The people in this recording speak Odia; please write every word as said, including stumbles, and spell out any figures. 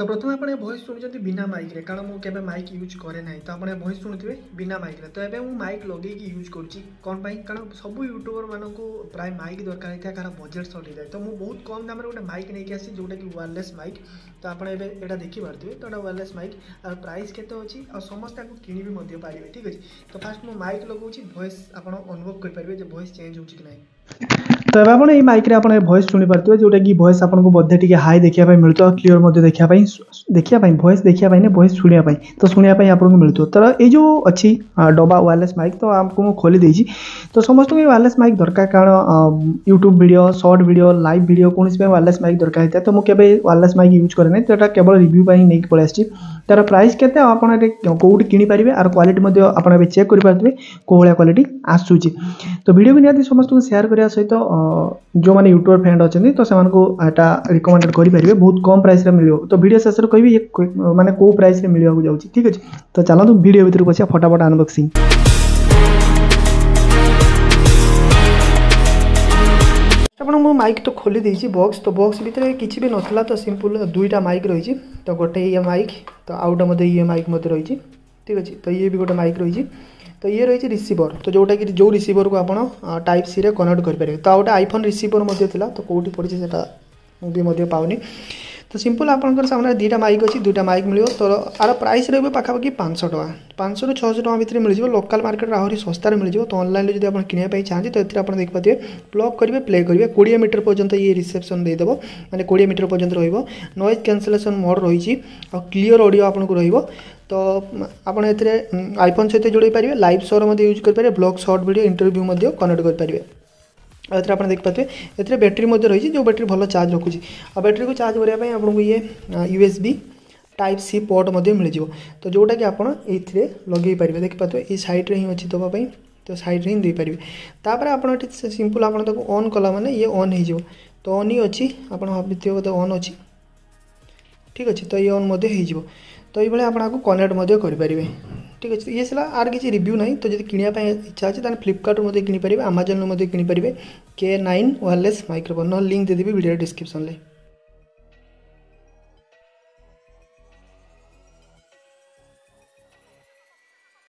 ତ ପ୍ରଥମେ ଆପଣ ଏ ଭଏସ୍ ଶୁଣୁଛନ୍ତି ବିନା ମାଇକ୍ରେ, କାରଣ ମୁଁ କେବେ ମାଇକ୍ ୟୁଜ୍ କରେ ନାହିଁ। ତ ଆପଣ ଏ ଭଏସ୍ ଶୁଣୁଥିବେ ବିନା ମାଇକ୍ରେ। ତ ଏବେ ମୁଁ ମାଇକ୍ ଲଗେଇକି ୟୁଜ୍ କରୁଛି। କ'ଣ ପାଇଁ? କାରଣ ସବୁ ୟୁଟ୍ୟୁବରମାନଙ୍କୁ ପ୍ରାୟ ମାଇକ୍ ଦରକାର ହେଇଥାଏ, କାରଣ ବଜେଟ୍ ସର୍ଟ ହେଇଥାଏ। ତ ମୁଁ ବହୁତ କମ୍ ଦାମରେ ଗୋଟେ ମାଇକ୍ ନେଇକି ଆସିଛି, ଯେଉଁଟାକି ୱାୟାରଲେସ୍ ମାଇକ୍। ତ ଆପଣ ଏବେ ଏଇଟା ଦେଖିପାରୁଥିବେ। ତ ଏଇଟା ୱାୟାରଲେସ୍ ମାଇକ୍, ଆଉ ପ୍ରାଇସ୍ କେତେ ଅଛି ଆଉ ସମସ୍ତେ ଆକୁ କିଣି ବି ମଧ୍ୟ ପାରିବେ। ଠିକ୍ ଅଛି, ତ ଫାଷ୍ଟ ମୁଁ ମାଇକ୍ ଲଗାଉଛି, ଭଏସ୍ ଆପଣ ଅନୁଭବ କରିପାରିବେ ଯେ ଭଏସ୍ ଚେଞ୍ଜ ହେଉଛି କି ନାହିଁ। ତ ଏବେ ଆପଣ ଏଇ ମାଇକ୍ରେ ଆପଣ ଏ ଭଏସ୍ ଶୁଣିପାରୁଥିବେ, ଯେଉଁଟାକି ଭଏସ୍ ଆପଣଙ୍କୁ ବୋଧେ ଟିକେ ହାଇ ଦେଖିବା ପାଇଁ ମିଳୁଥିବ, ଆଉ କ୍ଲିଅର୍ ମଧ୍ୟ ଦେଖିବା ପାଇଁ ଦେଖିବା ପାଇଁ ଭଏସ୍ ଦେଖିବା ପାଇଁ ନା ଭଏସ୍ ଶୁଣିବା ପାଇଁ, ତ ଶୁଣିବା ପାଇଁ ଆପଣଙ୍କୁ ମିଳୁଥିବ। ତ ଏଇ ଯେଉଁ ଅଛି ଡବା ୱାୟାରଲେସ୍ ମାଇକ୍, ତ ଆମକୁ ମୁଁ ଖୋଲି ଦେଇଛି। ତ ସମସ୍ତଙ୍କୁ ଏଇ ୱାୟାରଲେସ୍ ମାଇକ୍ ଦରକାର, କାରଣ YouTube video, short video, live video କୌଣସି ପାଇଁ ୱାୟାରଲେସ୍ ମାଇକ୍ ଦରକାର ହେଇଥାଏ। ତ ମୁଁ କେବେ ୱାୟାରଲେସ୍ ମାଇକ୍ ୟୁଜ୍ କରେ ନାହିଁ, ତ ଏଇଟା କେବଳ ରିଭ୍ୟୁ ପାଇଁ ନେଇକି ପଳେଇ ଆସିଛି। ତାର ପ୍ରାଇସ୍ କେତେ ଆଉ ଆପଣ ଏଠି କେଉଁଠି କିଣିପାରିବେ, ଆର କ୍ୱାଲିଟି ମଧ୍ୟ ଆପଣ ଏବେ ଚେକ୍ କରିପାରୁଥିବେ କେଉଁ ଭଳିଆ କ୍ୱାଲିଟି ଆସୁଛି। ତ ଭିଡ଼ିଓକୁ ନିହାତି ସମସ୍ତଙ୍କୁ ସେୟାର କରିବା ସହିତ ଯେଉଁମାନେ ୟୁଟ୍ୟୁବର ଫ୍ରେଣ୍ଡ ଅଛନ୍ତି, ତ ସେମାନଙ୍କୁ ଏଇଟା ରିକମେଣ୍ଡେଡ଼ କରିପାରିବେ। ବହୁତ କମ୍ ପ୍ରାଇସ୍ରେ ମିଳିବ। ତ ଭିଡ଼ିଓ ଶେଷରେ କହିବି ଇଏ ମାନେ କେଉଁ ପ୍ରାଇସ୍ରେ ମିଳିବାକୁ ଯାଉଛି। ଠିକ୍ ଅଛି, ତ ଚାଲନ୍ତୁ ଭିଡ଼ିଓ ଭିତରକୁ ପଶିବା, ଫଟାଫଟ ଅନବକ୍ସିଂ। ଆପଣ ମୁଁ ମାଇକ୍ ତ ଖୋଲି ଦେଇଛି ବକ୍ସ। ତ ବକ୍ସ ଭିତରେ କିଛି ବି ନଥିଲା, ତ ସିମ୍ପଲ୍ ଦୁଇଟା ମାଇକ୍ ରହିଛି। ତ ଗୋଟେ ଇଏ ମାଇକ୍, ତ ଆଉ ଗୋଟେ ମଧ୍ୟ ଇଏ ମାଇକ୍ ମଧ୍ୟ ରହିଛି। ଠିକ୍ ଅଛି, ତ ଇଏ ବି ଗୋଟେ ମାଇକ୍ ରହିଛି। ତ ଇଏ ରହିଛି ରିସିଭର, ତ ଯେଉଁଟାକି ଯେଉଁ ରିସିଭରକୁ ଆପଣ ଟାଇପ୍ ସିରେ କନେକ୍ଟ କରିପାରିବେ। ତ ଆଉ ଗୋଟେ ଆଇଫୋନ୍ ରିସିଭର ମଧ୍ୟ ଥିଲା, ତ କେଉଁଠି ପଡ଼ିଛି ସେଇଟା ମୁଁ ବି ମଧ୍ୟ ପାଉନି। ତ ସିମ୍ପଲ୍ ଆପଣଙ୍କର ସାମ୍ନାରେ ଦୁଇଟା ମାଇକ୍ ଅଛି, ଦୁଇଟା ମାଇକ୍ ମିଳିବ। ତ ଆର ପ୍ରାଇସ୍ ରହିବ ପାଖାପାଖି ପାଞ୍ଚଶହ ଟଙ୍କା, ପାଞ୍ଚଶହରୁ ଛଅଶହ ଟଙ୍କା ଭିତରେ ମିଳିଯିବ। ଲୋକାଲ୍ ମାର୍କେଟରେ ଆହୁରି ଶସ୍ତାରେ ମିଳିଯିବ। ତ ଅନଲାଇନ୍ରେ ଯଦି ଆପଣ କିଣିବା ପାଇଁ ଚାହାନ୍ତି, ତ ଏଥିରେ ଆପଣ ଦେଖିପାରୁଥିବେ, ପ୍ଲଗ୍ କରିବେ, ପ୍ଲେ କରିବେ, କୋଡ଼ିଏ ମିଟର ପର୍ଯ୍ୟନ୍ତ ଇଏ ରିସେପ୍ସନ୍ ଦେଇଦେବ, ମାନେ କୋଡ଼ିଏ ମିଟର ପର୍ଯ୍ୟନ୍ତ ରହିବ। ନଏଜ୍ କ୍ୟାନସଲେସନ୍ ମୋଡ଼୍ ରହିଛି ଆଉ କ୍ଲିଅର୍ ଅଡ଼ିଓ ଆପଣଙ୍କୁ ରହିବ। ତ ଆପଣ ଏଥିରେ ଆଇଫୋନ୍ ସହିତ ଯୋଡ଼େଇ ପାରିବେ, ଲାଇଭ୍ ସୋର ମଧ୍ୟ ୟୁଜ୍ କରିପାରିବେ, ବ୍ଲଗ୍, ସର୍ଟ ଭିଡ଼ିଓ, ଇଣ୍ଟରଭ୍ୟୁ ମଧ୍ୟ କନେକ୍ଟ କରିପାରିବେ। ଆଉ ଏଥିରେ ଆପଣ ଦେଖିପାରୁଥିବେ, ଏଥିରେ ବ୍ୟାଟେରୀ ମଧ୍ୟ ରହିଛି, ଯେଉଁ ବ୍ୟାଟେରୀ ଭଲ ଚାର୍ଜ ରଖୁଛି। ଆଉ ବ୍ୟାଟେରୀକୁ ଚାର୍ଜ କରିବା ପାଇଁ ଆପଣଙ୍କୁ ଇଏ U S B type C port ମଧ୍ୟ ମିଳିଯିବ, ତ ଯେଉଁଟାକି ଆପଣ ଏଇଥିରେ ଲଗେଇ ପାରିବେ। ଦେଖିପାରୁଥିବେ, ଏଇ ସାଇଡ଼୍ରେ ହିଁ ଅଛି ଦେବା ପାଇଁ, ତ ସାଇଡ଼୍ରେ ହିଁ ଦେଇପାରିବେ। ତାପରେ ଆପଣ ଏଠି ସିମ୍ପଲ୍ ଆପଣ ତାକୁ ଅନ୍ କଲା ମାନେ ଇଏ ଅନ୍ ହେଇଯିବ। ତ ଅନ୍ ହିଁ ଅଛି, ଆପଣ ଭାବିଥିବେ ବୋଧେ ଅନ୍ ଅଛି। ଠିକ୍ ଅଛି, ତ ଇଏ ଅନ୍ ମଧ୍ୟ ହେଇଯିବ। ତ ଏଇଭଳିଆ ଆପଣ ଆକୁ କନେକ୍ଟ ମଧ୍ୟ କରିପାରିବେ। ଠିକ୍ ଅଛି, ଇଏ ଥିଲା, ଆର କିଛି ରିଭ୍ୟୁ ନାହିଁ। ତ ଯଦି କିଣିବା ପାଇଁ ଇଚ୍ଛା ଅଛି, ତାହେଲେ ଫ୍ଲିପକାର୍ଟରୁ ମଧ୍ୟ କିଣିପାରିବେ, ଆମାଜନରୁ ମଧ୍ୟ କିଣିପାରିବେ। କେ ନାଇନ୍ ୱାୟାରଲେସ୍ ମାଇକ୍ରୋଫୋନ୍, ନହେଲେ ଲିଙ୍କ୍ ଦେଇଦେବି ଭିଡ଼ିଓ ଡିସ୍କ୍ରିପ୍ସନ୍ରେ।